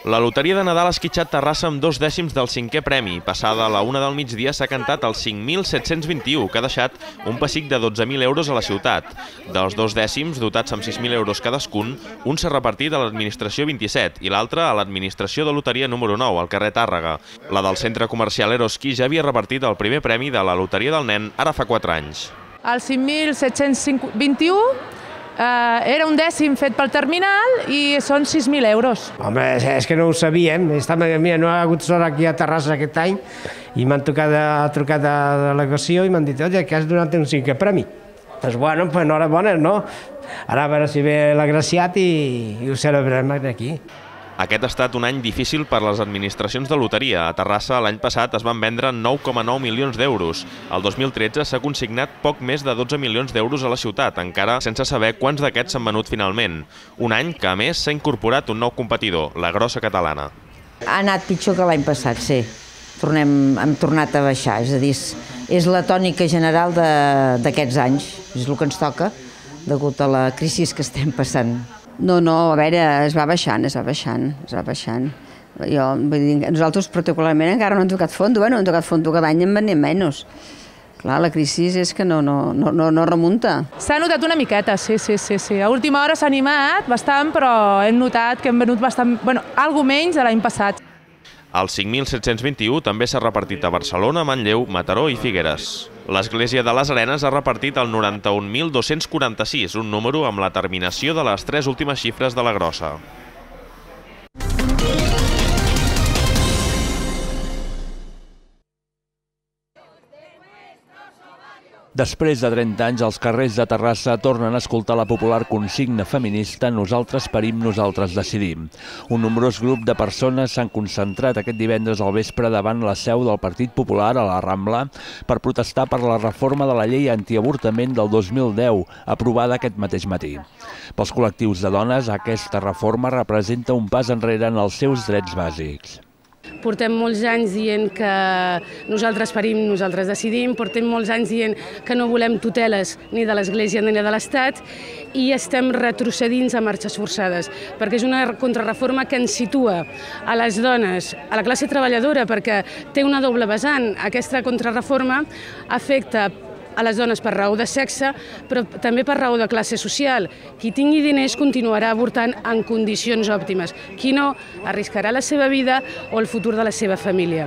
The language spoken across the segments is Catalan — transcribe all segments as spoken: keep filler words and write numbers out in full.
La loteria de Nadal ha esquitxat Terrassa amb dos dècims del cinquè premi. Passada a la una del migdia s'ha cantat els cinc mil set-cents vint-i-u, que ha deixat un pessic de dotze mil euros a la ciutat. Dels dos dècims, dotats amb sis mil euros cadascun, un s'ha repartit a l'administració vint-i-set i l'altre a l'administració de loteria número nou, al carrer Tàrrega. La del centre comercial Eroski ja havia repartit el primer premi de la loteria del nen ara fa quatre anys. El cinc mil set-cents vint-i-u Uh, era un dècim fet pel terminal i són sis mil euros. Home, és que no ho sabíem. Mira, no ha hagut sort aquí a Terrassa aquest any i m'han trucat a la delegació i m'han dit oye, que has donat un cinquè premi. Doncs bueno, pues enhorabona, no? Ara a veure si ve l'agraciat i, i ho celebrem aquí. Aquest ha estat un any difícil per les administracions de loteria. A Terrassa l'any passat es van vendre nou coma nou milions d'euros. El dos mil tretze s'ha consignat poc més de dotze milions d'euros a la ciutat, encara sense saber quants d'aquests s'han venut finalment. Un any que, a més, s'ha incorporat un nou competidor, la Grossa Catalana. Ha anat pitjor que l'any passat, sí. Tornem, hem tornat a baixar, és a dir, és la tònica general d'aquests anys. És el que ens toca, degut a la crisi que estem passant. No, no, a veure, es va baixant, es va baixant, es va baixant. Jo, vull dir, nosaltres particularment encara no hem tocat fondo, bueno, hem tocat fondo cada any en venim menys. Clar, la crisi és que no, no, no, no remunta. S'ha notat una miqueta, sí, sí, sí, sí. A última hora s'ha animat bastant, però hem notat que hem venut bastant, bueno, algo menys de l'any passat. El cinc mil set-cents vint-i-u també s'ha repartit a Barcelona, Manlleu, Mataró i Figueres. L'Església de les Arenes ha repartit el noranta-un mil dos-cents quaranta-sis, un número amb la terminació de les tres últimes xifres de la grossa. Després de trenta anys, els carrers de Terrassa tornen a escoltar la popular consigna feminista «Nosaltres parim, nosaltres decidim». Un nombrós grup de persones s'han concentrat aquest divendres al vespre davant la seu del Partit Popular a la Rambla per protestar per la reforma de la llei antiavortament del dos mil deu, aprovada aquest mateix matí. Pels col·lectius de dones, aquesta reforma representa un pas enrere en els seus drets bàsics. Portem molts anys dient que nosaltres parim, nosaltres decidim, portem molts anys dient que no volem tuteles ni de l'Església ni de l'Estat i estem retrocedint a marxes forçades, perquè és una contrarreforma que ens situa a les dones, a la classe treballadora, perquè té una doble vessant. Aquesta contrarreforma afecta a les dones per raó de sexe, però també per raó de classe social. Qui tingui diners continuarà avortant en condicions òptimes. Qui no, arriscarà la seva vida o el futur de la seva família.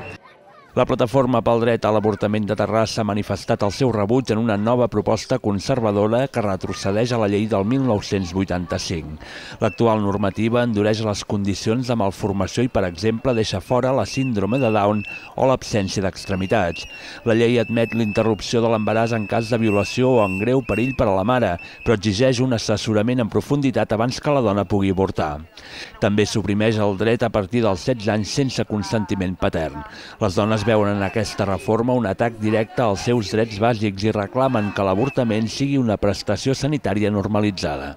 La Plataforma pel Dret a l'Avortament de Terrassa ha manifestat el seu rebuig en una nova proposta conservadora que retrocedeix a la llei del mil nou-cents vuitanta-cinc. L'actual normativa endureix les condicions de malformació i, per exemple, deixa fora la síndrome de Down o l'absència d'extremitats. La llei admet l'interrupció de l'embaràs en cas de violació o en greu perill per a la mare, però exigeix un assessorament en profunditat abans que la dona pugui avortar. També suprimeix el dret a partir dels setze anys sense consentiment patern. Les dones veuen en aquesta reforma un atac directe als seus drets bàsics i reclamen que l'avortament sigui una prestació sanitària normalitzada.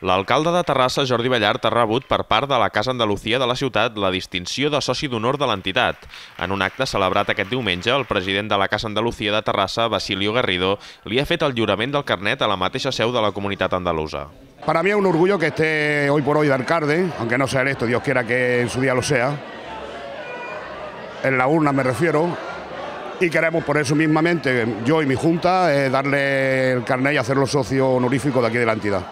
L'alcalde de Terrassa, Jordi Ballart, ha rebut per part de la Casa Andalucía de la ciutat la distinció de soci d'honor de l'entitat. En un acte celebrat aquest diumenge, el president de la Casa Andalucía de Terrassa, Basilio Garrido, li ha fet el lliurament del carnet a la mateixa seu de la comunitat andalusa. Para mí es un orgullo que esté hoy por hoy de alcalde, aunque no sea electo, Dios quiera que en su día lo sea. En la urna me refiero. Y queremos por eso mismamente, yo y mi junta, eh, darle el carnet y hacerlo socio honorífico de aquí de la entidad.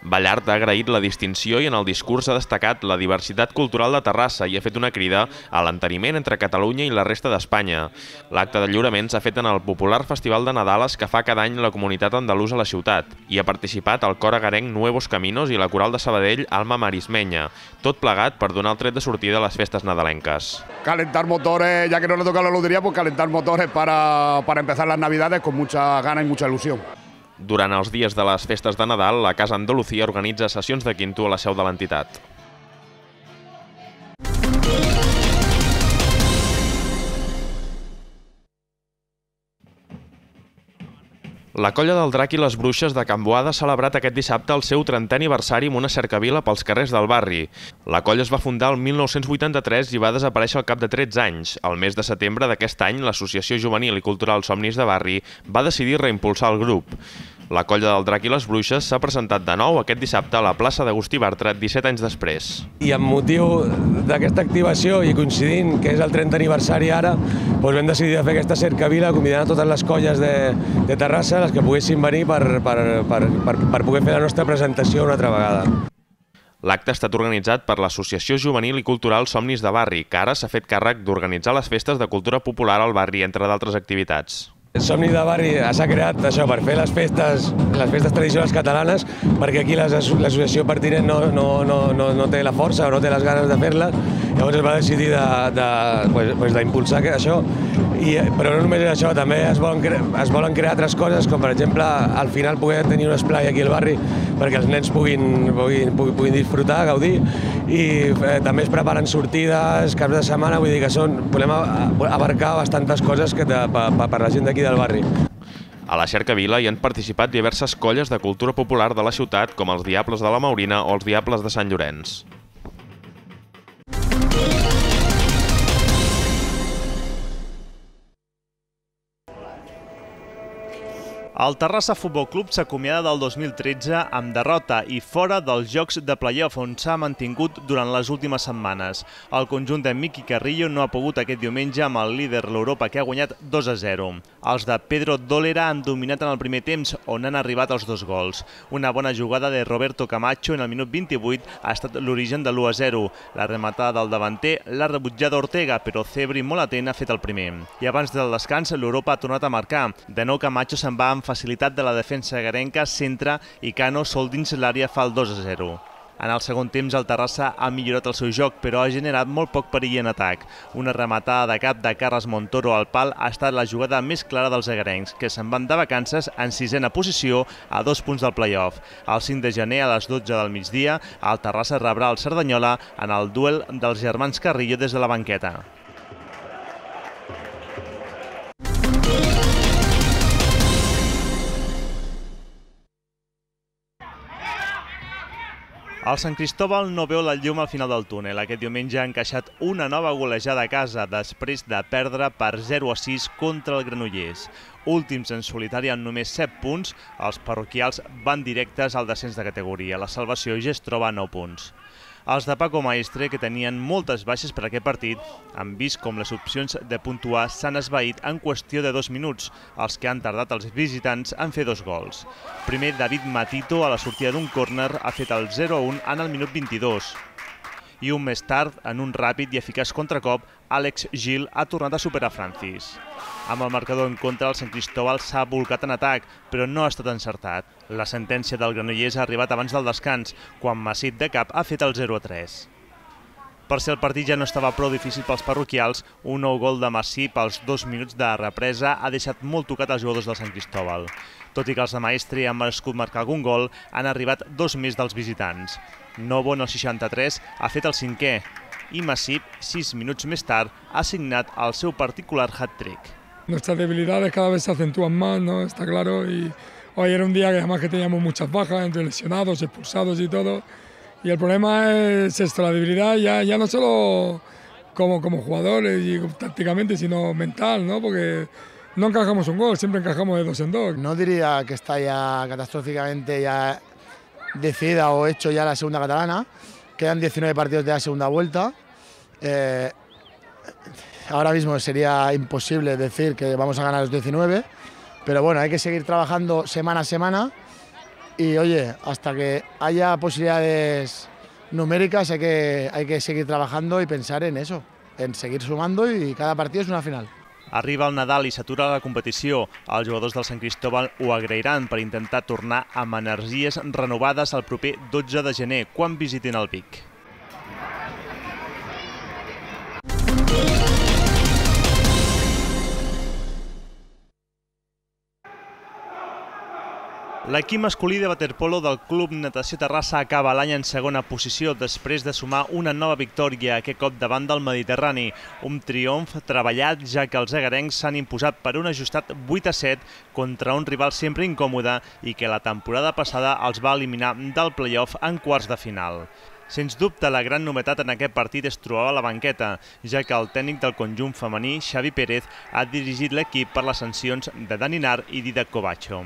Ballart ha agraït la distinció i en el discurs ha destacat la diversitat cultural de Terrassa i ha fet una crida a l'enteniment entre Catalunya i la resta d'Espanya. L'acte de lliurament s'ha fet en el popular Festival de Nadales que fa cada any la comunitat andalusa a la ciutat i ha participat el cor agarenc Nuevos Caminos i la coral de Sabadell Alma Marismeña, tot plegat per donar el tret de sortida a les festes nadalenques. Calentar motores, ya que no le toca la lotería, pues calentar motores para, para empezar las navidades con mucha gana y mucha ilusión. Durant els dies de les festes de Nadal, la Casa Andalucía organitza sessions de quinto a la seu de l'entitat. La Colla del Drac i les Bruixes de Can Boada ha celebrat aquest dissabte el seu trentè aniversari amb una cercavila pels carrers del barri. La colla es va fundar el mil nou-cents vuitanta-tres i va desaparèixer al cap de tretze anys. Al mes de setembre d'aquest any, l'Associació Juvenil i Cultural Somnis de Barri va decidir reimpulsar el grup. La Colla del Drac i les Bruixes s'ha presentat de nou aquest dissabte a la plaça d'Agustí Bartra, disset anys després. I amb motiu d'aquesta activació i coincidint que és el trentè aniversari ara, doncs vam decidir fer aquesta cercavila convidant a totes les colles de, de Terrassa, les que poguessin venir per, per, per, per, per poder fer la nostra presentació una altra vegada. L'acte ha estat organitzat per l'Associació Juvenil i Cultural Somnis de Barri, que ara s'ha fet càrrec d'organitzar les festes de cultura popular al barri, entre d'altres activitats. Somnis de Barri s'ha creat això per fer les festes, les festes tradicionals catalanes, perquè aquí l'associació pertinent no, no, no, no, no té la força o no té les ganes de fer-les, llavors es va decidir d'impulsar de, de, pues, això. I, però no només és això, també es volen, cre es volen crear altres coses, com per exemple al final poder tenir un esplai aquí al barri perquè els nens puguin, puguin, puguin disfrutar, gaudir, i eh, també es preparen sortides, caps de setmana, vull dir que són, volem abarcar bastantes coses que te, per, per la gent d'aquí del barri. A la cercavila hi han participat diverses colles de cultura popular de la ciutat, com els Diables de la Maurina o els Diables de Sant Llorenç. El Terrassa Futbol Club s'acomiada del dos mil tretze amb derrota i fora dels jocs de play-off on s'ha mantingut durant les últimes setmanes. El conjunt de Miqui Carrillo no ha pogut aquest diumenge amb el líder l'Europa, que ha guanyat dos a zero. Els de Pedro Dólera han dominat en el primer temps, on han arribat els dos gols. Una bona jugada de Roberto Camacho en el minut vint-i-vuit ha estat l'origen de l'u a zero. La rematada del davanter l'ha rebutjat Ortega, però Cebri, molt atent, ha fet el primer. I abans del descans, l'Europa ha tornat a marcar. De nou, Camacho se'n va amb facilitat de la defensa garenca, centra i Cano sol dins l'àrea fa el dos a zero. En el segon temps el Terrassa ha millorat el seu joc, però ha generat molt poc perill en atac. Una rematada de cap de Carles Montoro al pal ha estat la jugada més clara dels agarencs, que se'n van de vacances en sisena posició a dos punts del play-off. El cinc de gener a les dotze del migdia, el Terrassa rebrà el Cerdanyola en el duel dels germans Carrillo des de la banqueta. El Sant Cristóbal no veu la llum al final del túnel. Aquest diumenge ha encaixat una nova golejada a casa després de perdre per zero a sis contra el Granollers. Últims en solitari amb només set punts, els parroquials van directes al descens de categoria. La salvació ja es troba a nou punts. Els de Paco Maestre, que tenien moltes baixes per aquest partit, han vist com les opcions de puntuar s'han esvaït en qüestió de dos minuts, els que han tardat els visitants en fer dos gols. Primer, David Matito, a la sortida d'un córner, ha fet el zero a un en el minut vint-i-dos. I un més tard, en un ràpid i eficaç contracop, Àlex Gil ha tornat a superar Francis. Amb el marcador en contra, el Sant Cristóbal s'ha volcat en atac, però no ha estat encertat. La sentència del Granollers ha arribat abans del descans, quan Masip de cap ha fet el zero a tres. Per si el partit ja no estava prou difícil pels parroquials, un nou gol de Masip als dos minuts de represa ha deixat molt tocat els jugadors del Sant Cristóbal. Tot i que els de Maestre han merescut marcar algun gol, han arribat dos més dels visitants. Novo, en el seixanta-tres, ha fet el cinquè i Masip, sis minuts més tard, ha signat el seu particular hat-trick. Nuestras debilidades cada vez se acentúan más, ¿no? Está claro, y hoy era un día que además que teníamos muchas bajas, entre lesionados, expulsados y todo, y el problema es esto, la debilidad ya, ya no solo como, como jugadores y tácticamente, sino mental, ¿no? Porque no encajamos un gol, siempre encajamos de dos en dos. No diría que está ya catastróficamente ya decidida o hecho ya la segunda catalana. Quedan diecinueve partidos de la segunda vuelta. Eh, ahora mismo sería imposible decir que vamos a ganar los diecinueve, pero bueno, hay que seguir trabajando semana a semana y oye, hasta que haya posibilidades numéricas hay que, hay que seguir trabajando y pensar en eso, en seguir sumando, y cada partido es una final. Arriba el Nadal i s'atura la competició. Els jugadors del Sant Cristóbal ho agrairan per intentar tornar amb energies renovades el proper dotze de gener, quan visitin el Vic. L'equip masculí de waterpolo del Club Natació Terrassa acaba l'any en segona posició després de sumar una nova victòria, aquest cop davant del Mediterrani. Un triomf treballat, ja que els egarencs s'han imposat per un ajustat vuit a set contra un rival sempre incòmode i que la temporada passada els va eliminar del play-off en quarts de final. Sens dubte, la gran novetat en aquest partit es trobava a la banqueta, ja que el tècnic del conjunt femení, Xavi Pérez, ha dirigit l'equip per les sancions de Daninar i Didac Covacho.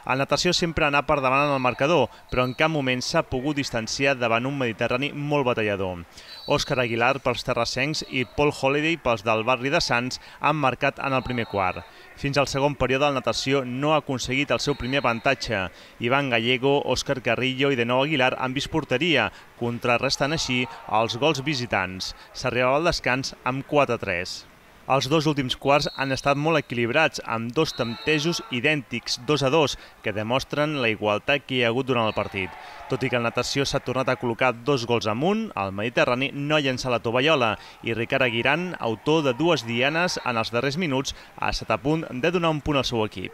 El natació sempre ha anat per davant en el marcador, però en cap moment s'ha pogut distanciar davant un Mediterrani molt batallador. Òscar Aguilar pels terrassencs i Paul Holiday pels del barri de Sants han marcat en el primer quart. Fins al segon període el natació no ha aconseguit el seu primer avantatge. Ivan Gallego, Òscar Carrillo i de nou Aguilar han vist porteria, contrarrestant així els gols visitants. S'arribava al descans amb quatre a tres. Els dos últims quarts han estat molt equilibrats, amb dos temptejos idèntics, dos a dos, que demostren la igualtat que hi ha hagut durant el partit. Tot i que el natació s'ha tornat a col·locar dos gols amunt, el Mediterrani no ha llençat la tovallola i Ricard Aguiran, autor de dues dianes en els darrers minuts, ha estat a punt de donar un punt al seu equip.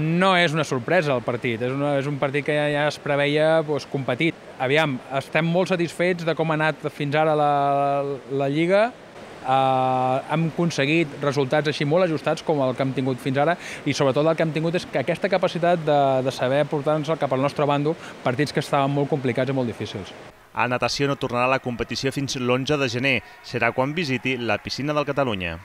No és una sorpresa el partit, és, una, és un partit que ja, ja es preveia doncs, competit. Aviam, estem molt satisfets de com ha anat fins ara la, la Lliga. Uh, hem aconseguit resultats així molt ajustats com el que hem tingut fins ara i sobretot el que hem tingut és que aquesta capacitat de, de saber portar-nos cap al nostre bàndol partits que estaven molt complicats i molt difícils. A natació no tornarà a la competició fins l'onze de gener. Serà quan visiti la piscina del Catalunya.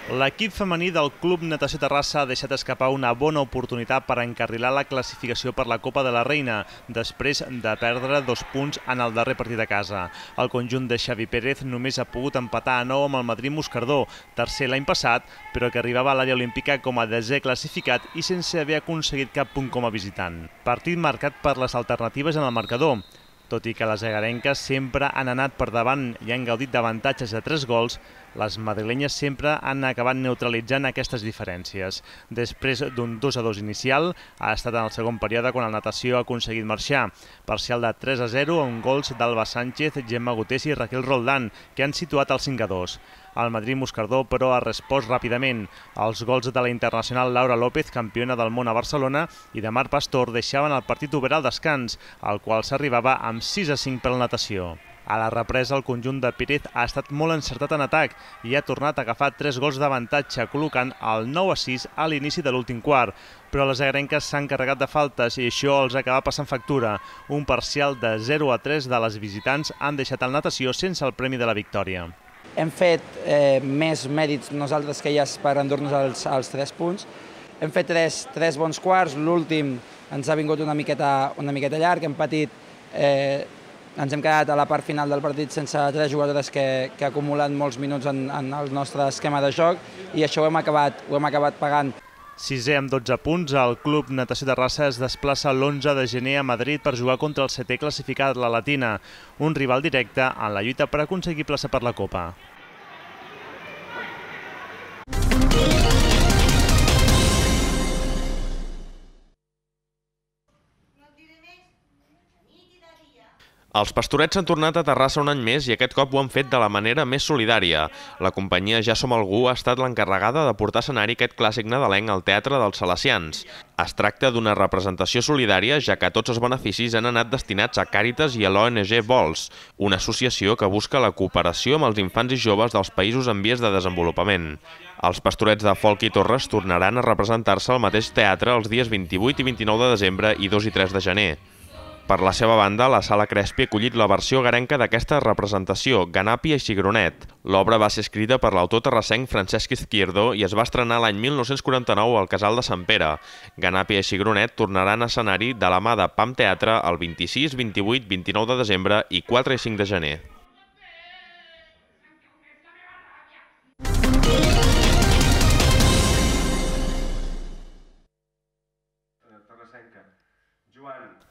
L'equip femení del Club Natació Terrassa ha deixat escapar una bona oportunitat per encarrilar la classificació per la Copa de la Reina, després de perdre dos punts en el darrer partit a casa. El conjunt de Xavi Pérez només ha pogut empatar a nou amb el Madrid Moscardó, tercer l'any passat, però que arribava a l'àrea olímpica com a desè classificat i sense haver aconseguit cap punt com a visitant. Partit marcat per les alternatives en el marcador. Tot i que les egarenques sempre han anat per davant i han gaudit d'avantatges de tres gols, les madrilenyes sempre han acabat neutralitzant aquestes diferències. Després d'un dos a dos inicial, ha estat en el segon període quan el natació ha aconseguit marxar. Parcial de tres a zero amb gols d'Alba Sánchez, Gemma Gutés i Raquel Roldán, que han situat el cinc a dos. El Madrid Moscardó, però, ha respost ràpidament. Els gols de la internacional Laura López, campiona del món a Barcelona, i de Mar Pastor deixaven el partit obert al descans, al qual s'arribava amb sis a cinc per la natació. A la represa, el conjunt de Pérez ha estat molt encertat en atac i ha tornat a agafar tres gols d'avantatge, col·locant el nou a sis a l'inici de l'últim quart. Però les egarenques s'han carregat de faltes i això els acaba passant factura. Un parcial de zero a tres de les visitants han deixat el natació sense el premi de la victòria. Hem fet eh, més mèrits nosaltres que elles per endur-nos els, els tres punts. Hem fet tres, tres bons quarts, l'últim ens ha vingut una miqueta, una miqueta llarg, hem patit, eh, ens hem quedat a la part final del partit sense tres jugadores que, que acumulen molts minuts en, en el nostre esquema de joc i això ho hem acabat, ho hem acabat pagant. Sisè amb dotze punts, el Club Natació Terrassa es desplaça l'onze de gener a Madrid per jugar contra el setè classificat, la Latina, un rival directe en la lluita per aconseguir plaça per la Copa. Els Pastorets han tornat a Terrassa un any més i aquest cop ho han fet de la manera més solidària. La companyia Ja Som Algú ha estat l'encarregada de portar a escenari aquest clàssic nadalenc al Teatre dels Salesians. Es tracta d'una representació solidària, ja que tots els beneficis han anat destinats a Càritas i a l'O N G Vols, una associació que busca la cooperació amb els infants i joves dels països en vies de desenvolupament. Els Pastorets de Folk i Torres tornaran a representar-se al mateix teatre els dies vint-i-vuit i vint-i-nou de desembre i dos i tres de gener. Per la seva banda, la Sala Crespi ha acollit la versió garenca d'aquesta representació, Ganàpia i Cigronet. L'obra va ser escrita per l'autor terrassenc Francesc Izquierdo i es va estrenar l'any mil nou-cents quaranta-nou al Casal de Sant Pere. Ganàpia i Cigronet tornaran a escenari de la mà de P A M Teatre el vint-i-sis, vint-i-vuit, vint-i-nou de desembre i quatre i cinc de gener.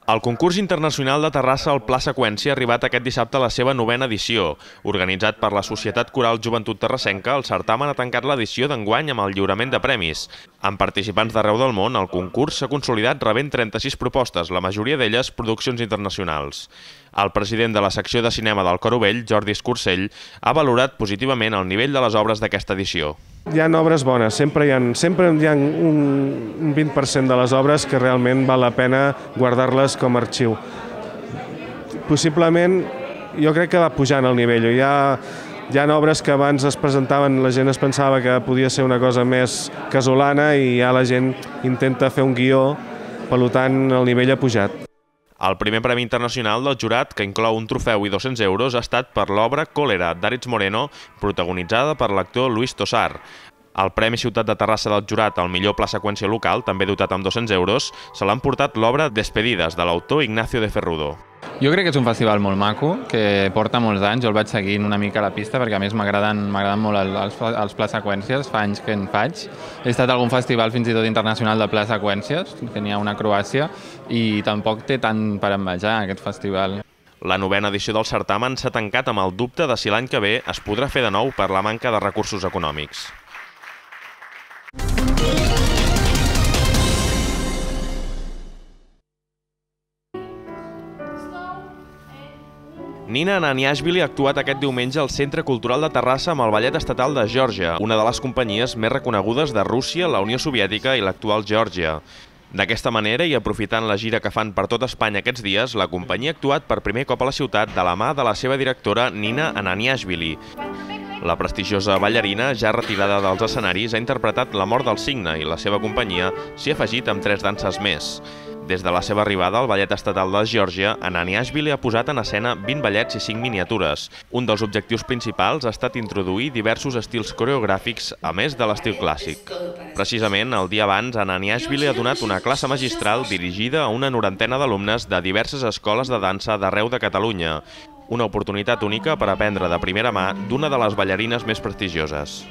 El concurs internacional de Terrassa al Pla Seqüència ha arribat aquest dissabte a la seva novena edició. Organitzat per la Societat Coral Joventut Terrassenca, el certamen ha tancat l'edició d'enguany amb el lliurament de premis. Amb participants d'arreu del món, el concurs s'ha consolidat rebent trenta-sis propostes, la majoria d'elles produccions internacionals. El president de la secció de cinema del Coro Vell, Jordi Escursell, ha valorat positivament el nivell de les obres d'aquesta edició. Hi ha obres bones, sempre hi ha, sempre hi ha un vint per cent de les obres que realment val la pena guardar-les com a arxiu. Possiblement, jo crec que va pujant el nivell. Hi ha, hi ha obres que abans es presentaven, la gent es pensava que podia ser una cosa més casolana i ja la gent intenta fer un guió, per tant el nivell ha pujat. El primer premi internacional del jurat, que inclou un trofeu i dos-cents euros, ha estat per l'obra Còlera, d'Aritz Moreno, protagonitzada per l'actor Luis Tosar. El Premi Ciutat de Terrassa del jurat al millor pla seqüència local, també dotat amb dos-cents euros, se l'ha emportat l'obra Despedides, de l'autor Ignacio de Ferrudo. Jo crec que és un festival molt maco, que porta molts anys. Jo el vaig seguint una mica a la pista perquè a més m'agraden molt els, els pla seqüències, fa anys que en faig. He estat a algun festival fins i tot internacional de pla seqüències, que n'hi ha una a Croàcia, i tampoc té tant per envejar aquest festival. La novena edició del certamen s'ha tancat amb el dubte de si l'any que ve es podrà fer de nou per la manca de recursos econòmics. Nina Ananiashvili ha actuat aquest diumenge al Centre Cultural de Terrassa amb el Ballet Estatal de Geòrgia, una de les companyies més reconegudes de Rússia, la Unió Soviètica i l'actual Geòrgia. D'aquesta manera, i aprofitant la gira que fan per tot Espanya aquests dies, la companyia ha actuat per primer cop a la ciutat de la mà de la seva directora Nina Ananiashvili. La prestigiosa ballarina, ja retirada dels escenaris, ha interpretat La mort del cigne i la seva companyia s'hi ha afegit amb tres danses més. Des de la seva arribada al Ballet Estatal de Geòrgia, Ananiashvili ha posat en escena vint ballets i cinc miniatures. Un dels objectius principals ha estat introduir diversos estils coreogràfics, a més de l'estil clàssic. Precisament, el dia abans, Ananiashvili ha donat una classe magistral dirigida a una norantena d'alumnes de diverses escoles de dansa d'arreu de Catalunya. Una oportunitat única per aprendre de primera mà d'una de les ballarines més prestigioses.